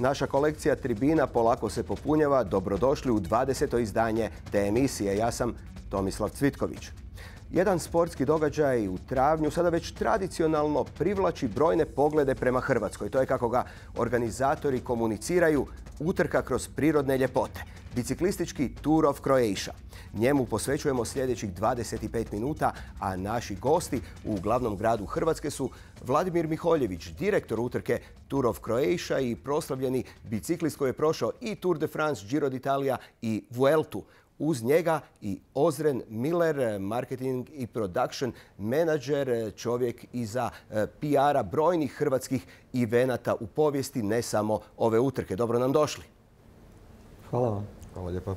Naša kolekcija tribina polako se popunjava. Dobrodošli u 20. izdanje te emisije. Ja sam Tomislav Cvitković. Jedan sportski događaj u travnju sada već tradicionalno privlači brojne poglede prema Hrvatskoj. To je kako ga organizatori komuniciraju, utrka kroz prirodne ljepote. Biciklistički Tour of Croatia. Njemu posvećujemo sljedećih 25 minuta, a naši gosti u glavnom gradu Hrvatske su Vladimir Miholjević, direktor utrke Tour of Croatia i proslavljeni biciklist koji je prošao i Tour de France, Giro d'Italia i Vueltu. Uz njega i Ozren Miller, marketing i production menadžer, čovjek iza PR-a brojnih hrvatskih evenata u povijesti, ne samo ove utrke. Dobro nam došli. Hvala vam. Hvala lijepa.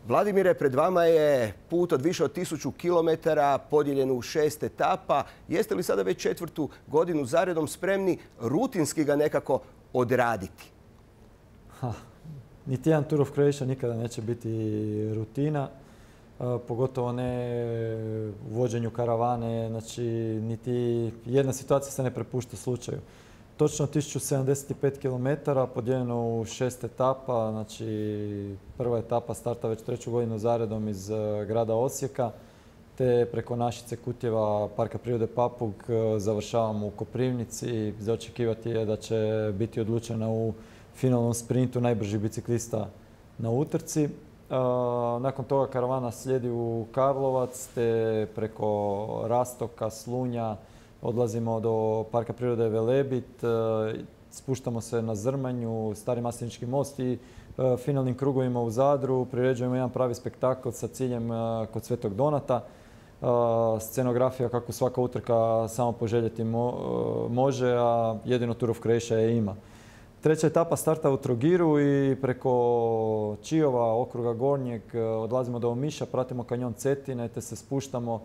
Vladimire, pred vama je put od više od 1000 km podijeljen u 6 etapa. Jeste li sada već 4. godinu zaredom spremni rutinski ga nekako odraditi? Niti jedan Tour of Croatia nikada neće biti rutina, pogotovo ne u vođenju karavane, znači niti jedna situacija se ne prepušta slučaju. Točno 1075 km podijeljeno u 6 etapa, znači prva etapa starta već 3. godinu zaredom iz grada Osijeka, te preko Našice, Kutjeva, Parka prirode Papuk završavamo u Koprivnici. Za očekivati je da će biti odlučena u finalnom sprintu najbrži biciklista na utrci. Nakon toga karavana slijedi u Karlovac, te preko Rastoka, Slunja odlazimo do Parka prirode Velebit, spuštamo se na Zrmanju, Stari Maslenički most i finalnim krugovima u Zadru priređujemo jedan pravi spektakl sa ciljem kod Svetog Donata. Scenografija kako svaka utrka samo poželjeti može, a jedino Tour of Croatia je ima. Treća etapa starta u Trogiru i preko Čiova, okruga Gornjeg, odlazimo do Omiša, pratimo kanjon Cetine te se spuštamo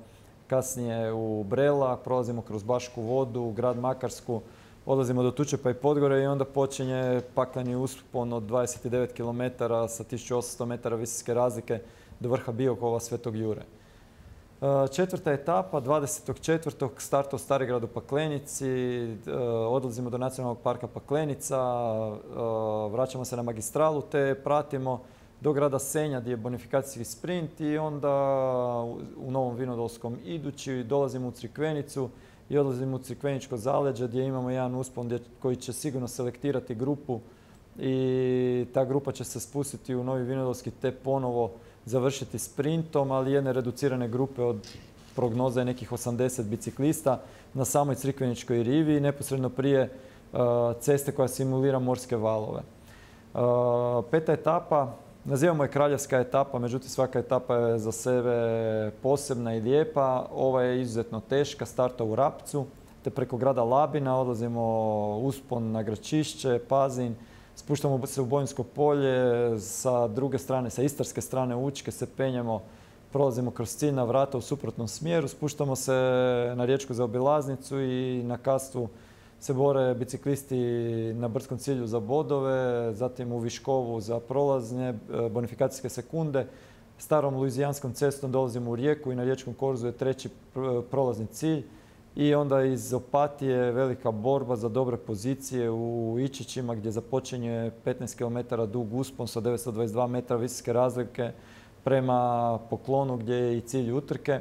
kasnije u Brela, prolazimo kroz Bašku vodu, grad Makarsku, odlazimo do Tučepa i Podgore i onda počinje pakleni uspon od 29 km sa 1800 metara visinske razlike do vrha Biokova Svetog Jure. Četvrta etapa, 24. start u Starigradu Paklenici, odlazimo do Nacionalnog parka Paklenica, vraćamo se na magistralu te pratimo do grada Senja gdje je bonifikacijski sprint i onda u Novom Vinodolskom idući dolazimo u Crikvenicu i odlazimo u Crikveničko zaleđe gdje imamo jedan uspon koji će sigurno selektirati grupu i ta grupa će se spustiti u Novi Vinodolski te ponovo završiti sprintom, ali jedne reducirane grupe od prognoza nekih 80 biciklista na samoj Crikveničkoj rivi, neposredno prije ceste koja simulira morske valove. Peta etapa, nazivamo je kraljevska etapa, međutim svaka etapa je za sebe posebna i lijepa. Ova je izuzetno teška, starta u Rapcu, te preko grada Labina odlazimo uspon na Gračišće, Pazin, spuštamo se u Bojinsko polje, sa druge strane, sa istarske strane Učke se penjemo, prolazimo kroz ciljna vrata u suprotnom smjeru, spuštamo se na riječku zaobilaznicu i na Kastvu se bore biciklisti na brdskom cilju za bodove, zatim u Viškovu za prolazne bonifikacijske sekunde. Starom luizijanskom cestom dolazimo u Rijeku i na Riječkom korzu je 3. prolazni cilj. I onda iz Opatije velika borba za dobre pozicije u Ičićima gdje započinje 15 km dug uspon sa 922 metra visinske razlike prema Poklonu gdje je i cilj utrke.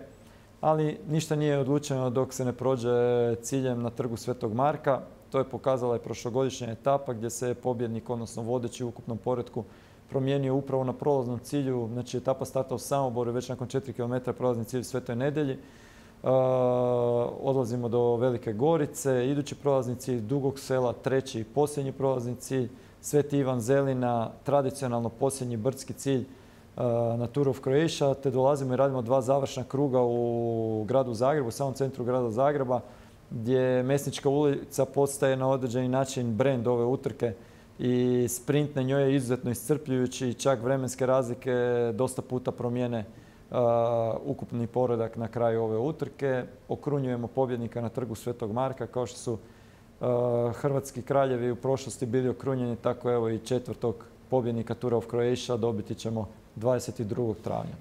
Ali ništa nije odlučeno dok se ne prođe ciljem na trgu Svetog Marka. To je pokazala i prošlogodišnja etapa gdje se pobjednik, odnosno vodeći u ukupnom poretku, promijenio upravo na prolaznom cilju. Znači etapa starta u Samoboru, već nakon 4 km prolazni cilj u Svetoj Nedelji. Odlazimo do Velike Gorice, idući prolazni cilj Dugog Sela, 3. i posljednji prolazni cilj Sveti Ivan Zelina, tradicionalno posljednji brdski cilj na Tour of Croatia, te dolazimo i radimo 2 završna kruga u gradu Zagrebu, u samom centru grada Zagreba, gdje Mesnička ulica postaje na određeni način brend ove utrke i sprint na njoj je izuzetno iscrpljujući i čak vremenske razlike dosta puta promijene ukupni poredak na kraju ove utrke. Okrunjujemo pobjednika na trgu Svetog Marka, kao što su hrvatski kraljevi u prošlosti bili okrunjeni, tako evo i 4. pobjednika Tour of Croatia dobiti ćemo 22. travnja.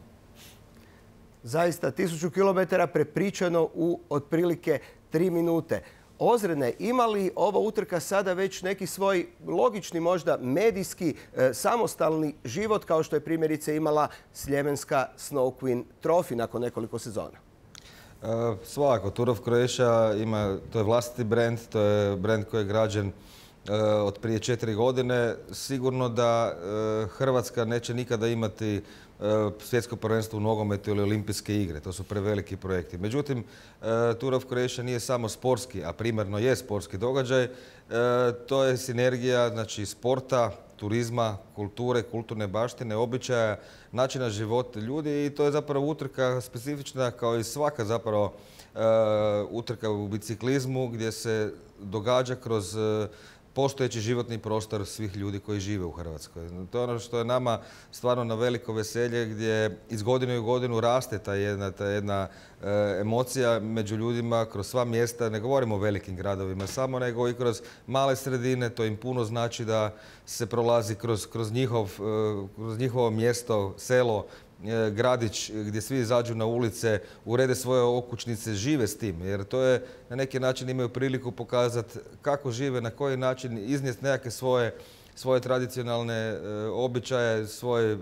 Zaista 1000 km prepričano u otprilike 3 minute. Ozredne, ima li ova utrka sada već neki svoj logični, možda medijski, samostalni život kao što je primjerice imala sljemenska Snow Queen Trophy nakon nekoliko sezona? Svakako, Tour of Croatia ima, to je vlastiti brand, to je brand koji je građen od prije 4 godine. Sigurno da Hrvatska neće nikada imati svjetsko prvenstvo u nogometu ili olimpijske igre. To su preveliki projekti. Međutim, Tour of Croatia nije samo sportski, a primarno je sportski događaj. To je sinergija, znači, sporta, turizma, kulture, kulturne baštine, običaja, načina života ljudi i to je zapravo utrka specifična kao i svaka zapravo utrka u biciklizmu gdje se događa kroz postojeći životni prostor svih ljudi koji žive u Hrvatskoj. To je ono što je nama stvarno na veliko veselje gdje iz godine u godinu raste ta jedna emocija među ljudima kroz sva mjesta. Ne govorimo o velikim gradovima samo, nego i kroz male sredine. To im puno znači da se prolazi kroz njihovo mjesto, selo, gradić gdje svi izađu na ulice, urede svoje okućnice, žive s tim. Jer to je na neki način imaju priliku pokazati kako žive, na koji način iznijeti nekakve svoje tradicionalne običaje, svoju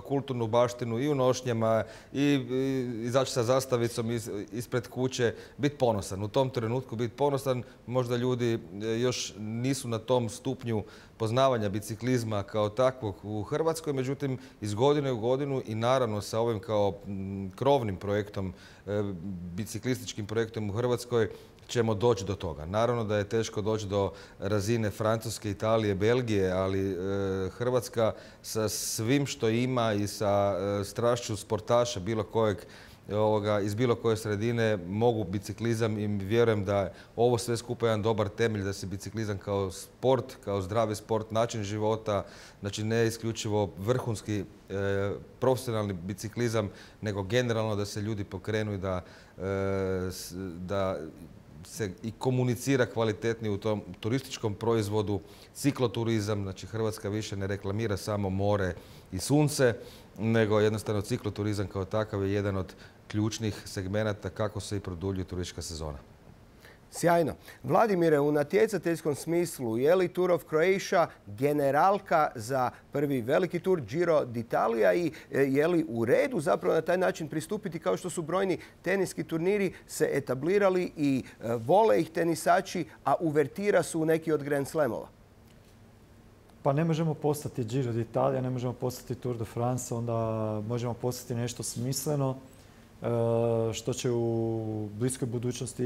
kulturnu baštinu i u nošnjama i izaći sa zastavicom ispred kuće, biti ponosan. U tom trenutku biti ponosan. Možda ljudi još nisu na tom stupnju poznavanja biciklizma kao takvog u Hrvatskoj, međutim iz godine u godinu i naravno sa ovim kao krovnim projektom, biciklističkim projektom u Hrvatskoj ćemo doći do toga. Naravno da je teško doći do razine Francuske, Italije, Belgije, ali Hrvatska sa svim što ima i sa strašću sportaša bilo kojeg iz bilo koje sredine mogu biciklizam i vjerujem da je ovo sve skupa jedan dobar temelj da se biciklizam kao sport, kao zdravi sport, način života, znači ne isključivo vrhunski profesionalni biciklizam, nego generalno da se ljudi pokrenu i da se i komunicira kvalitetnije u tom turističkom proizvodu, cikloturizam, znači Hrvatska više ne reklamira samo more i sunce, nego jednostavno cikloturizam kao takav je jedan od ključnih segmenata kako se i produljuje turistička sezona. Sjajno. Vladimire, u natjecateljskom smislu, je li Tour of Croatia generalka za prvi veliki tur Giro d'Italia i je li u redu zapravo na taj način pristupiti kao što su brojni teniski turniri se etablirali i vole ih tenisači, a uvertira su u neki od Grand Slamova? Pa ne možemo postati Giro d'Italia, ne možemo postati Tour de France, onda možemo postati nešto smisleno što će u bliskoj budućnosti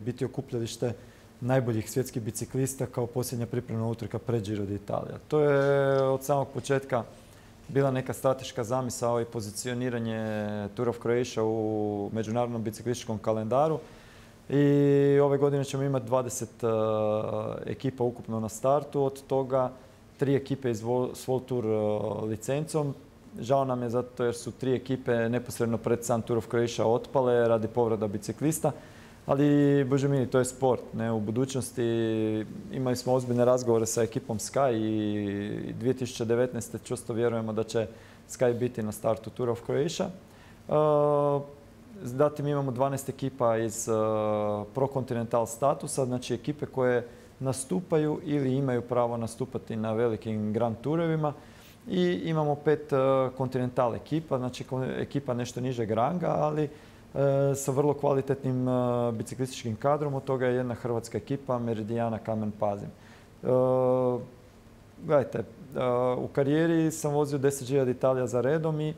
biti okupljalište najboljih svjetskih biciklista kao posljednja pripremna utrka pred Giro d'Italia. To je od samog početka bila neka strateška zamisao i pozicioniranje Tour of Croatia u međunarodnom biciklističkom kalendaru. I ove godine ćemo imati 20 ekipa ukupno na startu, od toga 3 ekipe s World Tour licencom. Žao nam je zato jer su 3 ekipe neposredno pred sam Tour of Croatia otpale radi povreda biciklista. Ali, bože mili, to je sport. U budućnosti imali smo ozbiljne razgovore sa ekipom Sky i 2019. čvrsto vjerujemo da će Sky biti na startu Tour of Croatia. Zatim imamo 12 ekipa iz Pro-Continental statusa, znači ekipe koje nastupaju ili imaju pravo nastupati na velikim Grand Tourovima. I imamo 5 Continental ekipa, znači ekipa nešto nižeg ranga, ali sa vrlo kvalitetnim biciklističkim kadrom. Od toga je jedna hrvatska ekipa, Meridiana Kamen Pazin. Gledajte, u karijeri sam vozio 10 Giro d'Italia za redom i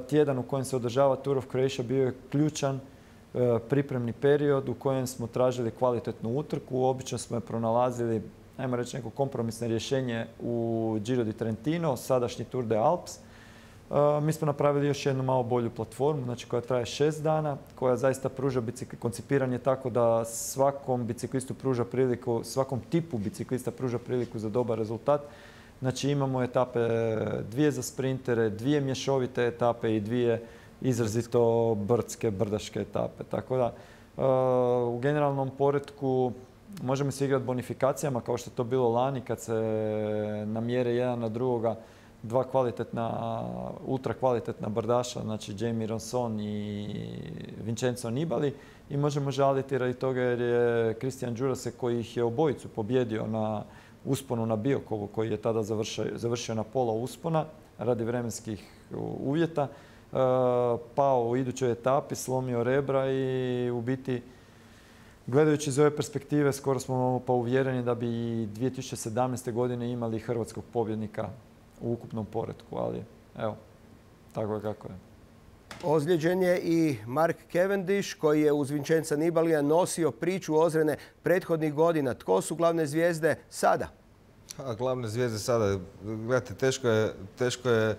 tjedan u kojem se održava Tour of Croatia bio je ključan pripremni period u kojem smo tražili kvalitetnu utrku. Obično smo je pronalazili, ajmo reći, neko kompromisno rješenje u Giro di Trentino, sadašnji Tour de Alps. Mi smo napravili još jednu malo bolju platformu, znači koja traje 6 dana, koja zaista pruža koncipiran je tako da svakom biciklistu pruža priliku, svakom tipu biciklista pruža priliku za dobar rezultat. Znači imamo etape 2 za sprintere, 2 mješovite etape i 2 izrazito brdske, brdaške etape. Tako da u generalnom poretku možemo se igrati bonifikacijama kao što je to bilo lani kad se namjere jedan na drugoga dva ultra kvalitetna brdaša, znači Jamie Ronson i Vincenzo Nibali, i možemo žaliti radi toga jer je Christian Djurasek, koji ih je obojicu pobjedio na usponu na Biokovu, koji je tada završio na pola uspona radi vremenskih uvjeta, pao u idućoj etapi, slomio rebra i u biti, gledajući iz ove perspektive, skoro smo pa uvjereni da bi 2017. godine imali hrvatskog pobjednika u ukupnom poretku, ali evo, tako je kako je. Ozlijeđen je i Mark Cavendish, koji je uz Vincenza Nibalija nosio priču Ozrene prethodnih godina. Tko su glavne zvijezde sada? Glavne zvijezde sada, gledajte, teško je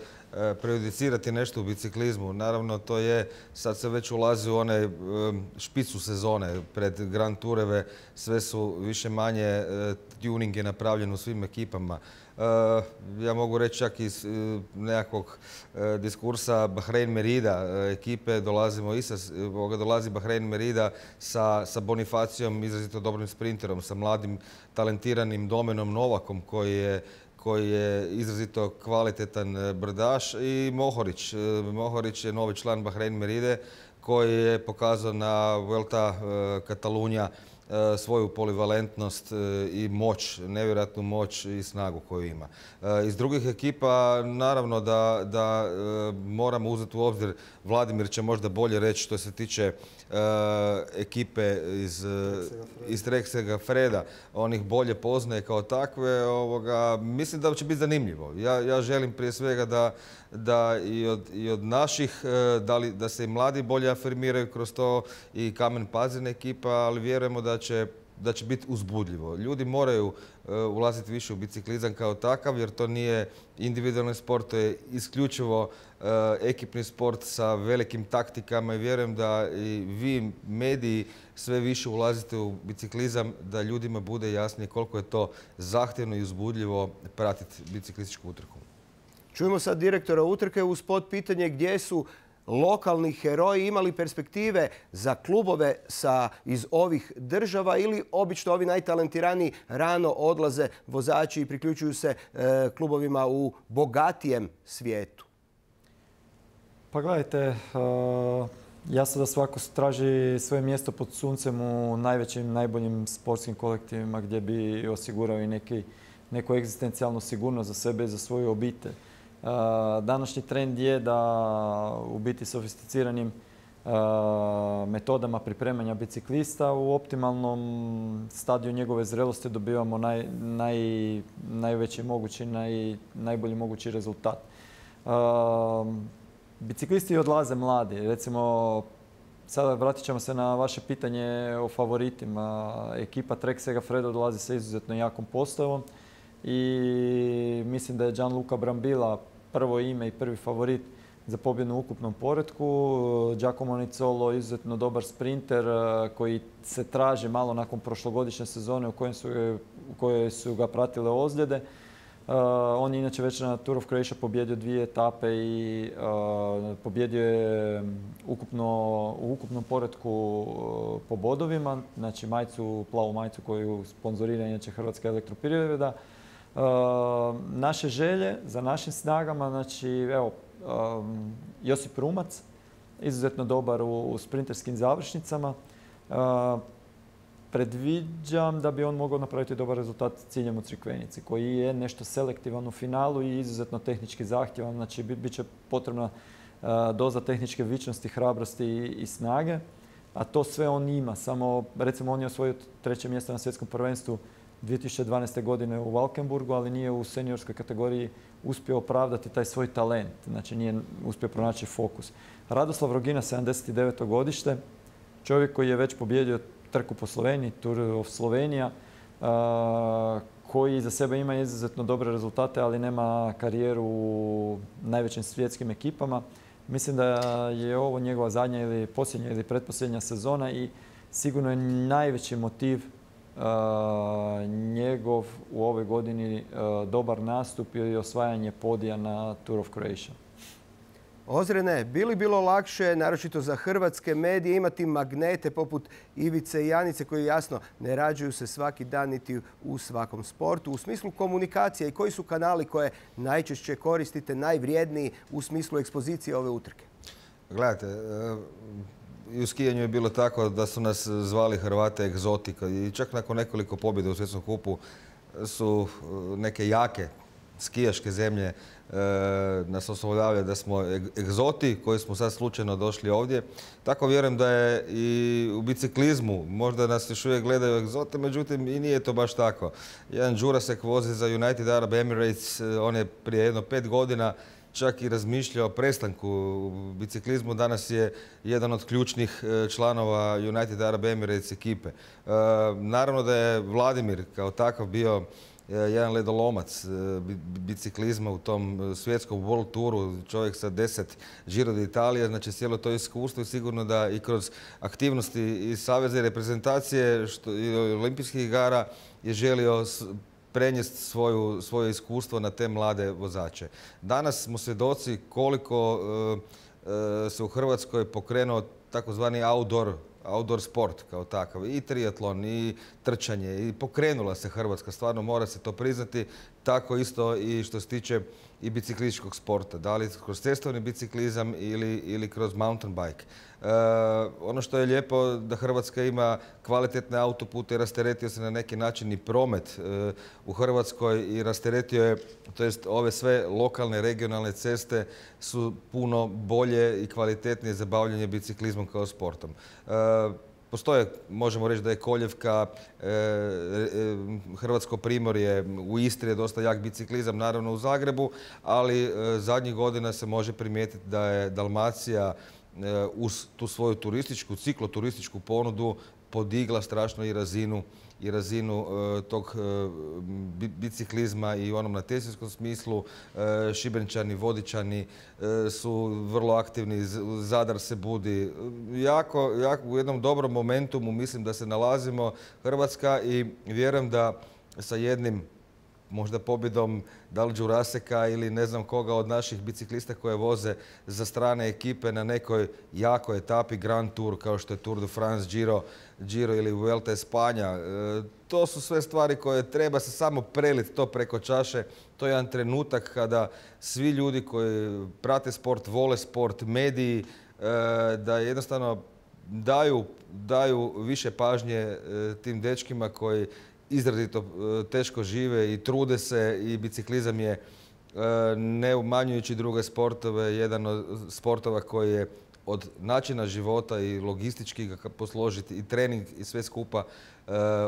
prejudicirati nešto u biciklizmu. Naravno, to je, sad se već ulazi u one špicu sezone pred Grand Toureve, sve su više manje, tuning je napravljen u svim ekipama. Ja mogu reći čak iz nekakvog diskursa Bahrein Merida ekipe, dolazi Bahrein Merida sa Bonifacijom, izrazito dobrim sprinterom, sa mladim talentiranim Domenom Novakom koji je izrazito kvalitetan brdaš, i Mohorić. Mohorić je novi član Bahrein Meride koji je pokazao na Vuelta Catalunya svoju polivalentnost i moć, nevjerojatnu moć i snagu koju ima. Iz drugih ekipa naravno da moramo uzeti u obzir, Vladimir će možda bolje reći što se tiče ekipe iz Trek Segafreda, on ih bolje poznaje kao takve. Mislim da će biti zanimljivo. Ja želim prije svega da i od naših, da se i mladi bolje afirmiraju kroz to, i Kamen Pazin ekipa, ali vjerujemo da će biti uzbudljivo. Ljudi moraju ulaziti više u biciklizam kao takav, jer to nije individualni sport, to je isključivo ekipni sport sa velikim taktikama, i vjerujem da i vi, mediji, sve više ulazite u biciklizam, da ljudima bude jasnije koliko je to zahtjevno i uzbudljivo pratiti biciklističku utrku. Čujemo sad direktora utrke uz pitanje gdje su lokalni heroji, imali perspektive za klubove iz ovih država, ili obično ovi najtalentiraniji rano odlaze vozači i priključuju se klubovima u bogatijem svijetu? Pa gledajte, jasno da svako traži svoje mjesto pod suncem u najvećim, najboljim sportskim kolektivima gdje bi osigurao i neku egzistencijalnu sigurnost za sebe i za svoju obitelj. Današnji trend je da u biti sofisticiranim metodama pripremanja biciklista u optimalnom stadiju njegove zrelosti dobivamo najveći mogući, najbolji mogući rezultat. Biciklisti odlaze mladi. Recimo, sada vratit ćemo se na vaše pitanje o favoritima. Ekipa Trek Segafredo dolazi sa izuzetno jakom postavom i mislim da je Gianluca Brambilla prvo ime i prvi favorit za pobjedu u ukupnom poretku. Giacomo Nizzolo izuzetno dobar sprinter koji se traži malo nakon prošlogodišnje sezone u kojoj su ga pratile ozljede. On je inače već na Tour of Croatia pobjedio 2 etape i pobjedio je u ukupnom poretku po bodovima, znači plavu majicu koju sponzorira inače Hrvatska elektroprivreda. Naše želje za našim snagama, znači evo, Josip Rumac, izuzetno dobar u sprinterskim završnicama. Predviđam da bi on mogao napraviti dobar rezultat s ciljem u Crikvenici, koji je nešto selektivan u finalu i izuzetno tehnički zahtjevan. Znači, bit će potrebna doza tehničke vičnosti, hrabrosti i snage, a to sve on ima. Samo, recimo, on je osvojio 3. mjesto na svjetskom prvenstvu 2012. godine u Valkenburgu, ali nije u seniorskoj kategoriji uspio opravdati taj svoj talent. Znači, nije uspio pronaći fokus. Radoslav Rogina, 79. godište, čovjek koji je već pobjedio trku po Sloveniji, Tour of Slovenija, koji za sebe ima izuzetno dobre rezultate, ali nema karijeru u najvećim svjetskim ekipama. Mislim da je ovo njegova zadnja ili posljednja ili pretposljednja sezona i sigurno je najveći motiv njegov u ovoj godini dobar nastup i osvajanje podija na Tour of Croatia. Ozrene, bi li bilo lakše, naročito za hrvatske medije, imati magnete poput Ivice i Janice koji jasno ne rađuju se svaki dan niti u svakom sportu? U smislu komunikacije i koji su kanali koje najčešće koristite, najvrijedniji u smislu ekspozicije ove utrke? Gledajte, i u skijanju je bilo tako da su nas zvali Hrvate egzotika i čak nakon nekoliko pobjeda u svjetskom kupu su neke jake skijaške zemlje nas oslovljavaju da smo egzoti koji smo sad slučajno došli ovdje. Tako vjerujem da je i u biciklizmu. Možda nas još uvijek gledaju egzote, međutim i nije to baš tako. Jedan Đurasek vozi za United Arab Emirates, on je prije jedno 5 godina čak i razmišljao o prestanku u biciklizmu. Danas je jedan od ključnih članova United Arab Emirates ekipe. Naravno da je Vladimir kao takav bio jedan ledolomac biciklizma u tom svjetskom World Touru, čovjek sa 10 Giro d'Italia, znači cijelo to iskustvo i sigurno da i kroz aktivnosti i saveza i reprezentacije i olimpijskih igara je želio prenijeti svoje iskustvo na te mlade vozače. Danas smo svjedoci koliko se u Hrvatskoj pokrenuo takozvani outdoor sport kao takav. I triatlon, i trčanje, i pokrenula se Hrvatska, stvarno mora se to priznati. Tako isto i što se tiče i biciklističkog sporta. Da li kroz cestovni biciklizam ili kroz mountain bike. Ono što je lijepo da Hrvatska ima kvalitetne autopute i rasteretio se na neki način i promet u Hrvatskoj i rasteretio je, to jest ove sve lokalne, regionalne ceste su puno bolje i kvalitetnije za bavljanje biciklizmom kao sportom. Postoje, možemo reći da je Koljevka, Hrvatsko primorje, u Istri je dosta jak biciklizam, naravno u Zagrebu, ali zadnjih godina se može primijetiti da je Dalmacija uz tu svoju cikloturističku ponudu podigla strašno i razinu tog biciklizma i u onom natjecateljskom smislu. Šibenčani, Vodičani su vrlo aktivni, Zadar se budi. Jako u jednom dobrom momentumu mislim da se nalazimo Hrvatska i vjerujem da sa jednim možda pobjedom da li Đuraseka ili ne znam koga od naših biciklista koje voze za strane ekipe na nekoj jakoj etapi Grand Tour kao što je Tour de France, Giro ili Vuelta Espanja. To su sve stvari koje treba se samo preliti to preko čaše. To je jedan trenutak kada svi ljudi koji prate sport, vole sport, mediji, da jednostavno daju više pažnje tim dečkima koji izrazito teško žive i trude se i biciklizam je, ne umanjujući druge sportove, jedan od sportova koji je od načina života i logistički ga posložiti i trening i sve skupa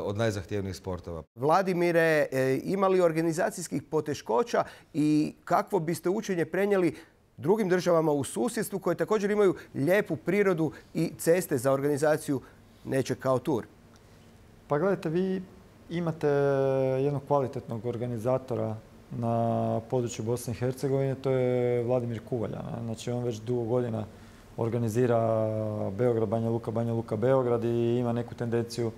od najzahtjevnijih sportova. Vladimire, ima li organizacijskih poteškoća i kakvo biste učenje prenijeli drugim državama u susjedstvu koje također imaju lijepu prirodu i ceste za organizaciju nečeg kao tur? Pa gledajte, vi imate jednog kvalitetnog organizatora na području Bosne i Hercegovine, to je Vladimir Kuvalja. Znači on već dugo godina organizira Beograd, Banja Luka, Beograd i ima neku tendenciju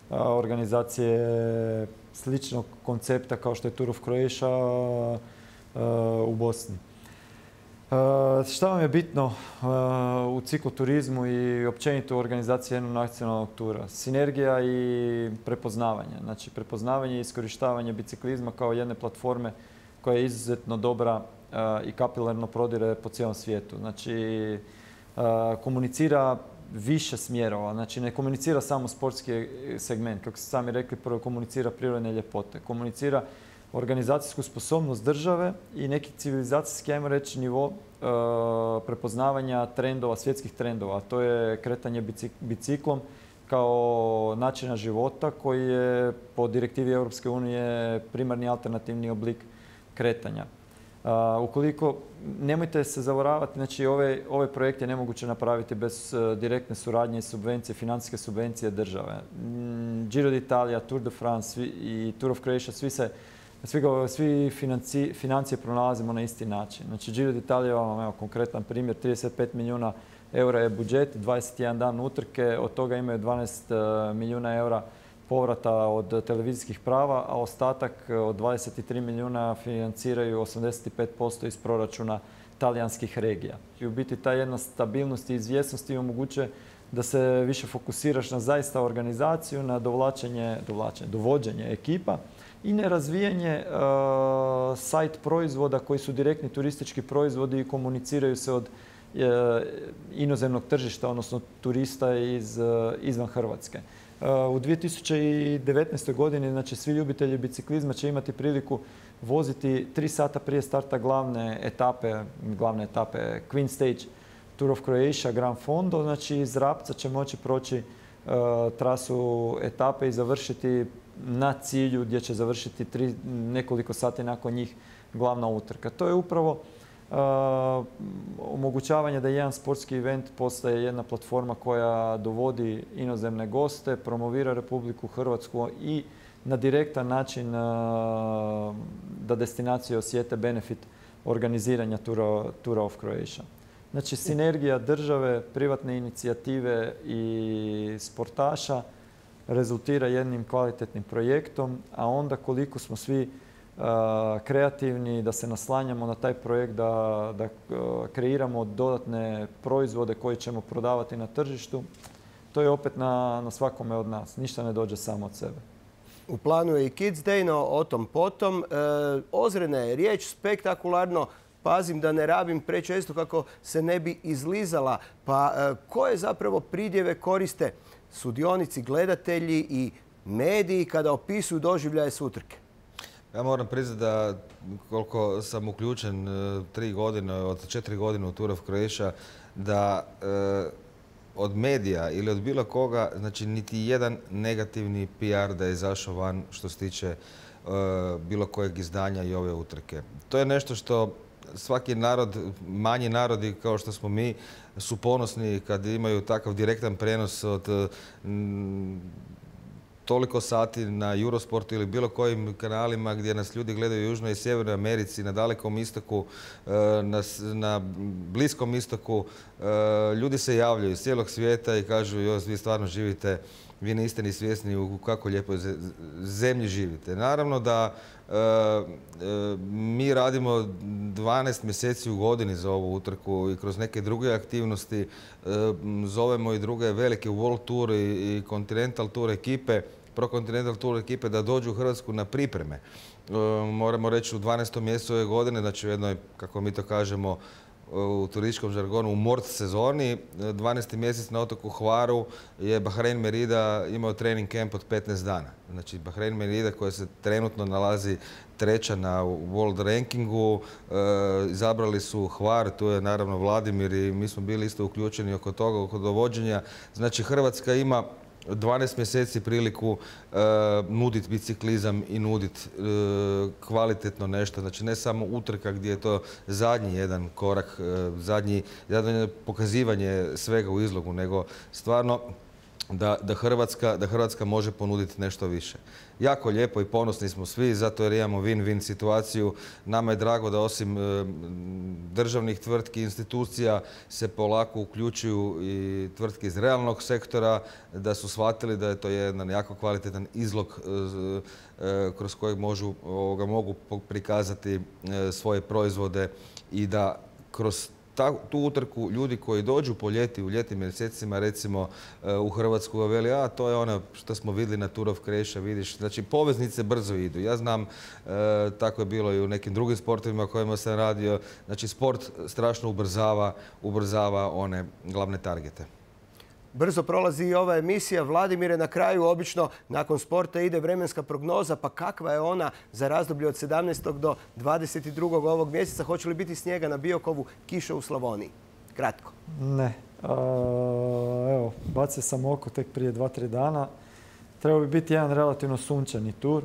organizacije sličnog koncepta kao što je Tour of Croatia u Bosni. Šta vam je bitno u cikloturizmu i općenito u organizaciji jednog nacionalnog tura? Sinergija i prepoznavanje. Znači prepoznavanje i iskorištavanje biciklizma kao jedne platforme koja je izuzetno dobra i kapilarno prodire po cijelom svijetu. Znači komunicira više smjerova. Znači ne komunicira samo sportski segment. Kako ste sami rekli, prvo komunicira prirodne ljepote. Komunicira organizacijsku sposobnost države i neki civilizacijski, ajmo reći, nivo prepoznavanja trendova, svjetskih trendova. To je kretanje biciklom kao načina života koji je po direktivi Europske unije primarni alternativni oblik kretanja. Ukoliko, nemojte se zavaravati, znači ove projekte je nemoguće napraviti bez direktne suradnje i subvencije, financijske subvencije države. Giro d'Italia, Tour de France i Tour of Croatia, svi financije pronalazimo na isti način. Znači Giro d'Italia, evo konkretan primjer, 35 milijuna eura je budžet, 21 dan utrke, od toga imaju 12 milijuna eura povrata od televizijskih prava, a ostatak od 23 milijuna financiraju 85% iz proračuna talijanskih regija. I u biti ta jedna stabilnost i izvjesnost ti omogućuje da se više fokusiraš na zaista organizaciju, na dovođenje ekipa i na razvijanje sajt proizvoda koji su direktni turistički proizvodi i komuniciraju se od inozemnog tržišta, odnosno turista izvan Hrvatske. U 2019. godini znači, svi ljubitelji biciklizma će imati priliku voziti 3 sata prije starta glavne etape Queen Stage Tour of Croatia Gran Fondo. Znači iz Rapca će moći proći trasu etape i završiti na cilju gdje će završiti nekoliko sati nakon njih glavna utrka. To je upravo omogućavanje da jedan sportski event postaje jedna platforma koja dovodi inozemne goste, promovira Republiku Hrvatsku i na direktan način da destinacije osjete benefit organiziranja Tour of Croatia. Znači sinergija države, privatne inicijative i sportaša rezultira jednim kvalitetnim projektom, a onda koliko smo svi kreativni, da se naslanjamo na taj projekt, da kreiramo dodatne proizvode koje ćemo prodavati na tržištu, to je opet na svakome od nas. Ništa ne dođe samo od sebe. U planu je i Kids Day, no o tom potom. Ozrena je riječ, spektakularno. Pazim da ne rabim prečesto kako se ne bi izlizala. Pa koje zapravo pridjeve koriste sudionici, gledatelji i mediji kada opisuju doživljaje s utrke? Ja moram priznati da koliko sam uključen 3 godine, od 4 godine u Tour of Croatia, da od medija ili od bilo koga, znači niti jedan negativni PR da je izašao van što se tiče bilo kojeg izdanja i ove utrke. To je nešto što svaki narod, manji narodi kao što smo mi, su ponosni kad imaju takav direktan prenos od toliko sati na Eurosportu ili bilo kojim kanalima gdje nas ljudi gledaju u Južnoj i Sjevernoj Americi, na Dalekom istoku, na Bliskom istoku. Ljudi se javljaju iz cijelog svijeta i kažu vi stvarno živite, vi niste ni svjesni u kako lijepoj zemlji živite. Naravno da mi radimo 12 mjeseci u godini za ovu utrku i kroz neke druge aktivnosti zovemo i druge velike World Tour i Continental Tour ekipe, Pro Continental Tour ekipe da dođu u Hrvatsku na pripreme. Moramo reći u 12. mjesecu ove godine, znači u jednoj, kako mi to kažemo, u turističkom žargonu u mort sezoni. 12. mjesec na otoku Hvaru je Bahrein Merida imao trening camp od 15 dana. Znači Bahrein Merida koja se trenutno nalazi treća na World rankingu, izabrali su Hvar, tu je naravno Vladimir i mi smo bili isto uključeni oko toga, oko dovođenja. Znači Hrvatska ima 12 mjeseci priliku nuditi biciklizam i nuditi kvalitetno nešto. Znači ne samo utrka gdje je to zadnji jedan korak, zadnji pokazivanje svega u izlogu, nego stvarno da Hrvatska može ponuditi nešto više. Jako lijepo i ponosni smo svi, zato jer imamo win-win situaciju. Nama je drago da osim državnih tvrtki i institucija se polako uključuju i tvrtke iz realnog sektora, da su shvatili da je to jedan jako kvalitetan izlog kroz kojeg mogu prikazati svoje proizvode i da kroz tu utrku ljudi koji dođu po ljeti, u ljetnim mjesecima recimo u Hrvatsku veli, a to je ono što smo vidjeli na Tour of Croatia, vidiš. Znači poveznice brzo idu. Ja znam, tako je bilo i u nekim drugim sportovima kojima sam radio. Znači sport strašno ubrzava one glavne targete. Brzo prolazi i ova emisija. Vladimire, na kraju obično nakon sporta ide vremenska prognoza, pa kakva je ona za razdoblje od 17. do 22. ovog mjeseca? Hoće li biti snijega na Biokovu, kiša u Slavoniji? Kratko. Ne. Evo, bacio sam oko tek prije 2-3 dana. Trebao bi biti jedan relativno sunčani tur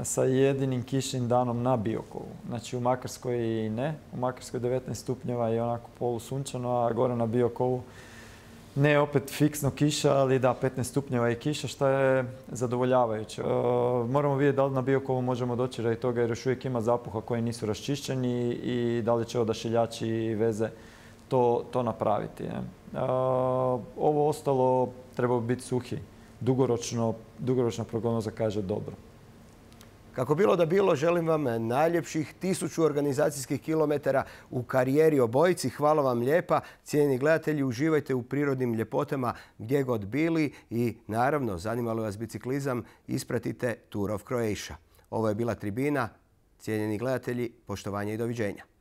sa jedinim kišnim danom na Biokovu. Znači u Makarskoj i ne. U Makarskoj 19 stupnjeva je onako polusunčano, a gore na Biokovu ne opet fiksno kiša, ali da, 15 stupnjeva i kiša, što je zadovoljavajuće. Moramo vidjeti da li na Biokovu možemo doći radi toga jer još uvijek ima zapuha koji nisu raščišćeni i da li će odašiljači i veze to napraviti. Ovo ostalo treba biti suhi. Dugoročna prognoza kaže dobro. Kako bilo da bilo, želim vam najljepših 1000 organizacijskih kilometara u karijeri obojici. Hvala vam lijepa. Cijenjeni gledatelji, uživajte u prirodnim ljepotama gdje god bili i naravno, zanimalo vas biciklizam, ispratite Tour of Croatia. Ovo je bila Tribina. Cijenjeni gledatelji, poštovanje i doviđenja.